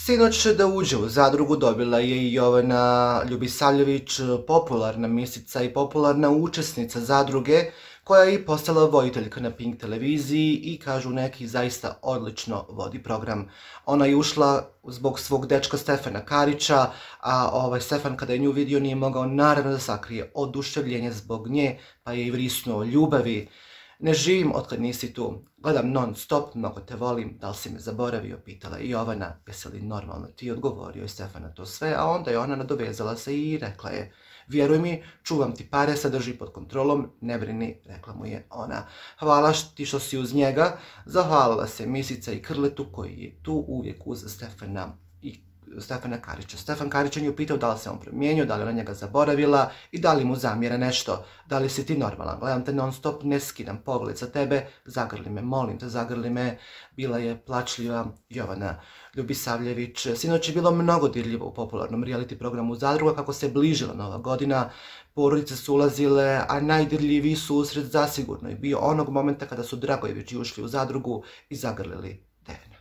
Sinoć da uđe u zadrugu dobila je i Jovana Ljubisavljević, popularna misica i popularna učesnica zadruge, koja je i postala voditeljka na Pink televiziji i kažu neki zaista odlično vodi program. Ona je ušla zbog svog dečka Stefana Karića, a Stefan kada je nju vidio nije mogao naravno da sakrije oduševljenje zbog nje, pa je i vrisnuo ljubavi. Ne živim otkad nisi tu, gledam non stop, mnogo te volim, da li si me zaboravio, pitala je Jovana, jesi li normalno ti, odgovorio je Stefana to sve, a onda je ona nadovezala se i rekla je, vjeruj mi, čuvam ti pare, sad drži pod kontrolom, ne brini, rekla mu je ona. Hvala ti što si uz njega, zahvalila se Misica i Krletu koji je tu uvijek uz Stefana Karića. Stefan Karić je nju pitao da li se on promijenio, da li ona njega zaboravila i da li mu zamjera nešto. Da li si ti normalan? Gledam te non stop, ne skidam pogled za tebe, zagrli me, molim te, zagrli me. Bila je plačljiva Jovana Ljubisavljević. Sinoć je bilo mnogo dirljivo u popularnom reality programu Zadruga kako se bližila Nova godina. Porodice su ulazile, a najdirljiviji susret zasigurno je bio onog momenta kada su Dragojevići ušli u zadrugu i zagrlili Devina.